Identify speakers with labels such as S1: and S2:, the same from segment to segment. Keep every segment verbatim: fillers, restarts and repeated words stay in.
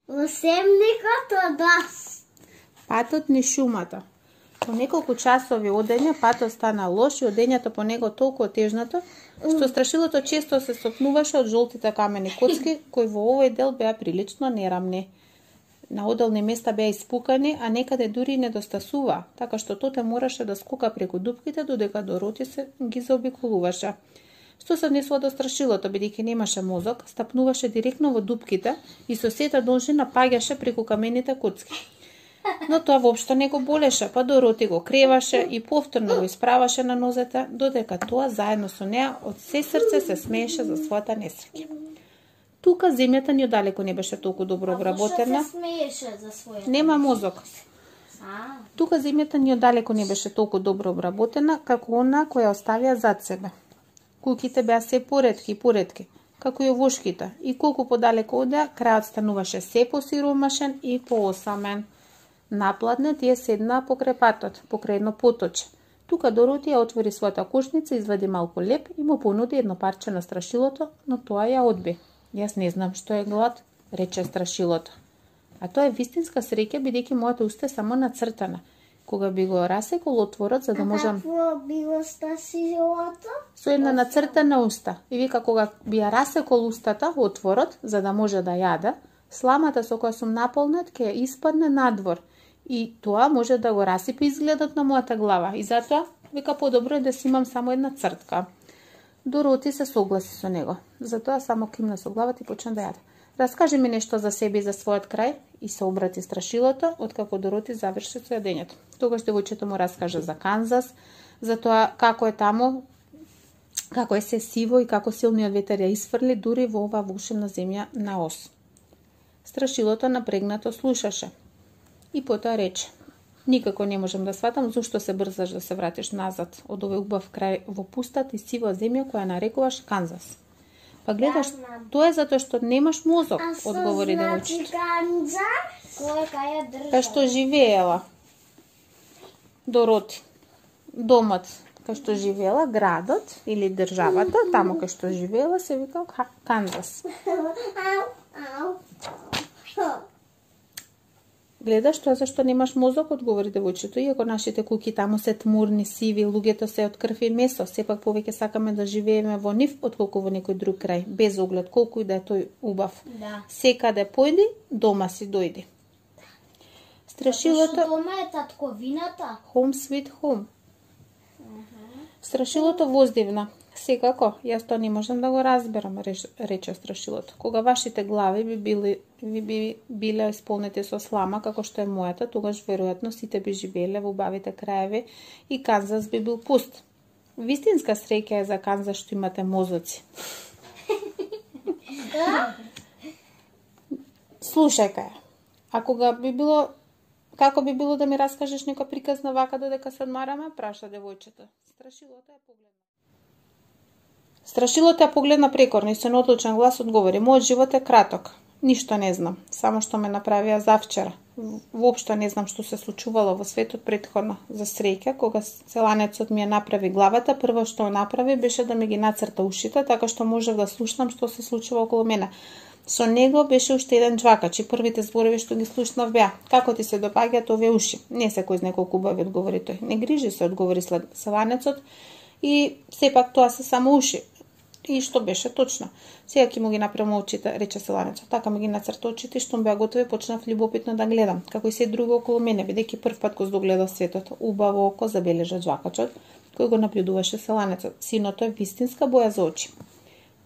S1: Во семникот од нас.
S2: Патот низ шумата. По неколку часови одење, патот стана лош и одењето по него толку отежнато, што страшилото често се сопнуваше од жолтите камени коцки, кои во овој дел беа прилично нерамни. На одделни места беа испукани, а некаде дури и недостасува, така што Тоте мораше да скока преку дупките додека Дороти се ги заобиколуваше. Што се однесува до страшилото, бидејќи немаше мозок, стапнуваше директно во дупките и со сета должина паѓаше преку камените коцки. Но тоа воопшто не го болеше, па Дороти го креваше и повторно го исправаше на нозете, додека тоа заедно со неа од се срце се смееше за својата несреќа. Тука земјата ни одалеку не беше толку добро обработена.
S1: А се смееше за својата?
S2: Нема мозок.
S1: А.
S2: Тука земјата ни одалеку не беше толку добро обработена, како она која оставија зад себе. Куќите беа се поретки и поретки, како и овошките, и колку подалеку одеа, крајот стануваше се посиромашен и поосамен. Напладне тие седнаа покрај патот, покрај едно поточе. Тука Дороти ја отвори својата кошница, извади малку леп и му понуди едно парче на страшилото, но тоа ја одби. Јас не знам што е глад, рече страшилото. А тоа е вистинска среќа, бидејќи мојата уста е само нацртана. Кога би го расекол отворот, за да можам...
S1: А какво било страшилото?
S2: Со една нацртана уста. И вика, кога би ја расекол устата, отворот, за да може да јаде, сламата со која сум наполнет ќе ја испадне надвор. И тоа може да го расипе изгледот на мојата глава. И затоа, вика, подобро е да си имам само една цртка. Дороти се согласи со него. Затоа само кимна со главата и почна да јаде. Раскажи ми нешто за себе и за својот крај, и се обрати страшилото, откако Дороти заврши со јадењето. Тогаш девојчето му раскажа за Канзас, за тоа како е таму, како е се сиво и како силниот ветер ја isfрли дури во оваа волшебна земја на Оз. Страшилото напрегнато слушаше. И потоа рече: никако не можам да сватам зошто се брзаш да се вратиш назад од овој убав крај во пустата и сива земја која нарекуваш Канзас. Па гледаш, тоа е затоа што немаш мозок, одговори девојчето.
S1: А Канзас? Кој кај држава?
S2: Кај што живеела Дороти. Домот кај што живеела, градот или државата, таму кај што живеела се вика Канзас. Гледаш, тоа зашто немаш мозок, одговори девојчето, иако нашите куќи таму се тмурни, сиви, луѓето се од крв и месо, сепак повеќе сакаме да живееме во нив отколку во некој друг крај, без оглед колку и да е тој убав.
S1: Да.
S2: Секаде појди, дома си дојди. Страшилото...
S1: Зашто дома е татковината?
S2: Home sweet home. Страшилото воздивна. Секако, јас тоа не можам да го разберам, рече страшилото. Кога вашите глави би били ви би биле исполнети со слама, како што е мојата, тогаш веројатно сите би живееле во убавите краеви и Канзас би бил пуст. Вистинска среќа е за Канзас што имате мозоци. Слушај кај, а кога би било, како би било да ми раскажеш некоја приказна вака додека се одмараме, праша девојчето. Страшилото ја погледна. Страшилото ја погледна прекорно и со неодлучен глас одговори: мојот живот е краток. Ништо не знам, само што ме направија завчера. Воопшто не знам што се случувало во светот претходно. За среќа, кога селанецот ми ја направи главата, прво што направи беше да ми ги нацрта ушите, така што можев да слушнам што се случува околу мене. Со него беше уште еден џвакач и првите зборови што ги слушнав беа: како ти се допаѓаат овие уши? Не се кој знае колку убави, одговори тој. Не грижи се, одговори селанецот, и сепак тоа се само уши. И што беше точно. Сега ќе му ги направам очите, рече селанецот. Така ми ги нацрта очите и што беа готови, почнав љубопитно да гледам, како и се друго околу мене, бидејќи прв пат го здогледав светот. Убаво око, забележа џвакачот, кој го наблюдуваше селанецот. Синото е вистинска боја за очи.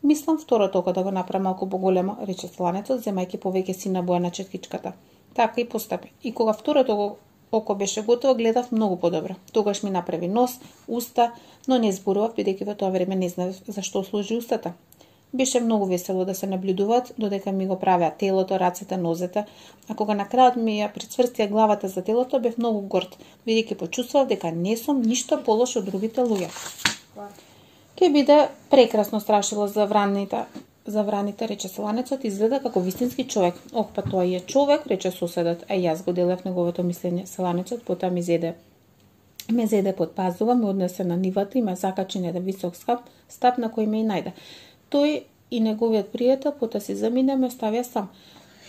S2: Мислам второто око да го направам малку поголемо, рече селанецот, земајќи повеќе сина боја на четкичката. Така и постапи. И кога второто око беше готово, гледав многу подобро. Тогаш ми направи нос, уста, но не зборував, бидејќи во тоа време не знаев зашто служи устата. Беше многу весело да се наблюдуваат, додека ми го правеа телото, рацете, нозете, а кога на крајот ми ја прицврстија главата за телото, бев многу горд, бидејќи почувствував дека не сум ништо полош од другите луѓе. Ке биде прекрасно страшило за враните, за враните, рече селанецот, изгледа како вистински човек. Ох, па тоа е човек, рече соседот, а јас го делев неговото мислење. Селанецот потоа ми зеде ме зеде под пазува, ме однесе на нивата и ме закачи на еден висок скап, стап на кој ме и најде. Тој и неговиот пријател потоа си замина, ме оставија сам.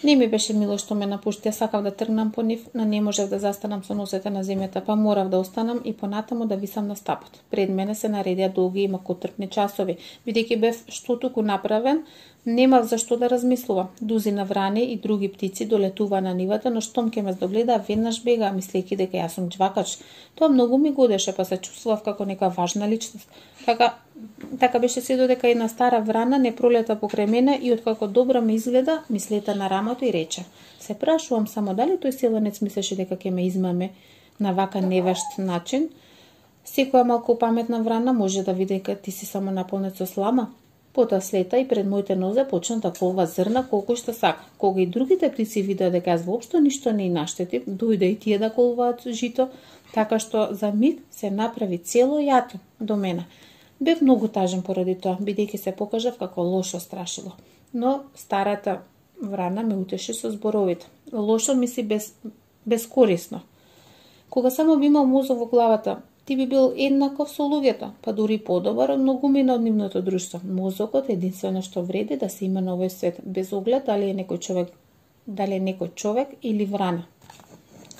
S2: Не ми беше мило што ме напушти, ја сакав да тргнам по нив, но не можев да застанам со носете на земјата, па морав да останам и понатаму да висам на стапот. Пред мене се наредија долги и макотрпни часови, бидејќи бев што туку направен, немав за што да размислувам. Дузина врани и други птици долетуваа на нивата, но штом ке ме здогледаа, веднаш бегаа, мислејќи дека јас сум џвакач. Тоа многу ми годеше, па се чувствував како нека важна личност. Така, така беше се додека една стара врана не пролета покрај мене и откако добро ме изгледа, ми слета на рамото и рече: "Се прашувам само дали тој селенец мислеше дека ќе ме измаме на вака невешт начин. Секоја малку паметна врана може да види дека ти си само наполнет со слама." Потоа слета и пред моите нозе почна да колва зрна колку што сака. Кога и другите птици видеа дека јас воопшто ништо не и наштетив, дојде и тие да колваат жито, така што за миг се направи цело јато до мене. Бев многу тажен поради тоа, бидејќи се покажав како лошо страшило. Но старата врана ме утеши со зборовите. Лошо мисли без, безкорисно. Кога само би имал мозок во главата, ти би бил еднаков со луѓето, па дури подобар од многумина од нивното друштво. Мозокот е единствено што вреди да се има на овој свет, без оглед дали е некој човек, дали е некој човек или врана.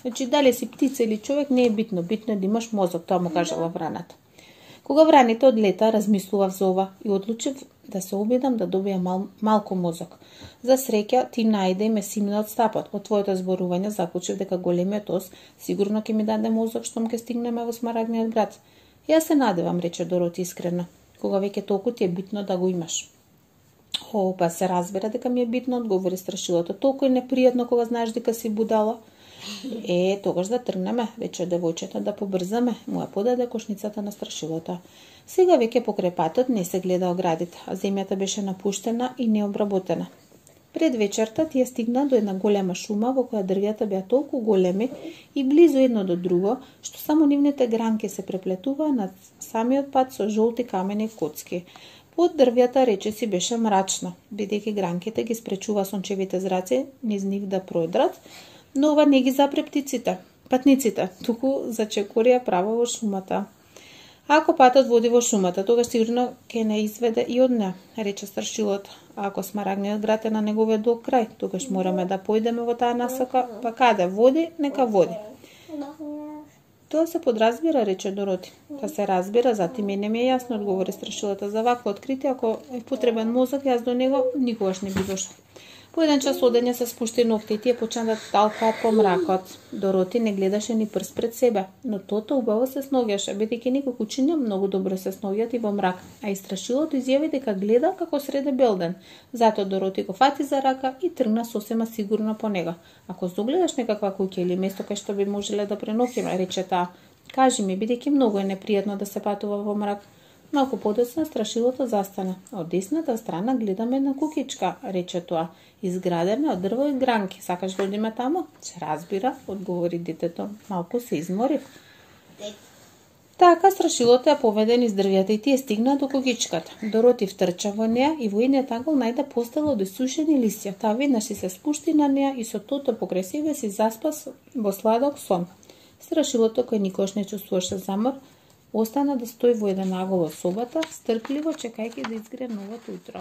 S2: Значи, дали си птица или човек не е битно, битно е да имаш мозок, тоа му кажала враната. Кога враните одлета, размислував за ова и одлучив да се обидам да добија мал, малку мозок. За среќа, ти најде и ме симна од стапот. Од твоето зборување заклучив дека големиот ос сигурно ќе ми даде мозок штом ќе стигнеме во Смарагниот град. Јас се надевам, рече Дороти искрено, кога веќе толку ти е битно да го имаш. О, па се разбира дека ми е битно, одговори страшилото. Толку е непријатно кога знаеш дека си будала. Е, тогаш да тргнеме, рече девојчето, да побрзаме, му ја подаде кошницата на страшилото. Сега веќе покрај патот не се гледа оградите, а земјата беше напуштена и необработена. Пред вечерта тие стигна до една голема шума во која дрвјата беа толку големи и близу едно до друго, што само нивните гранки се преплетуваа на самиот пат со жолти камени и коцки. Под дрвјата речиси беше мрачно, бидејќи гранките ги спречува сончевите зраци низ нив да продрат, но ова не ги запре птиците, патниците, туку зачекорија право во шумата. Ако патот води во шумата, тогаш сигурно ќе не изведе и од неа, рече страшилото. А ако Смарагниот град е на неговиот долг крај, тогаш мораме да појдеме во таа насока, па каде води, нека води. Тоа се подразбира, рече Дороти. Па се разбира, затоа мене ми е јасно, одговори страшилото. За вакво откритие, ако е потребен мозок, јас до него никогаш не би дошла. По еден час одење се спушти ноќта и тие почна да талкаат по мракот. Дороти не гледаше ни прст пред себе, но тото убаво се сноѓаше, бидејќи некои кучиња многу добро се сноѓат и во мрак, а и страшилото изјави дека гледа како среде белден. Затоа Дороти го фати за рака и тргна сосема сигурно по него. Ако загледаш некаква куќа или место кај што би можеле да преноќиме, рече таа, кажи ми, бидејќи многу е непријатно да се патува во мрак. Малку подоцна страшилото застана. Од десната страна гледаме на кукичка, рече тоа, изградена од дрво и гранки. Сакаш да одиме тамо? Се разбира, одговори детето. Малку се изморив. Така страшилото ја поведе низ дрвјата и тие стигнаа до кукичката. Дороти втрча во неа и во едниот ангол најде постела од исушени листја. Таа веднаш си се спушти на неа и со тото покрај себе си заспа во сладок сон. Страшилото, кој никош не чувствуваше замор, остана да стои во еден агол од собата, стрпливо чекајќи да изгре новото утро.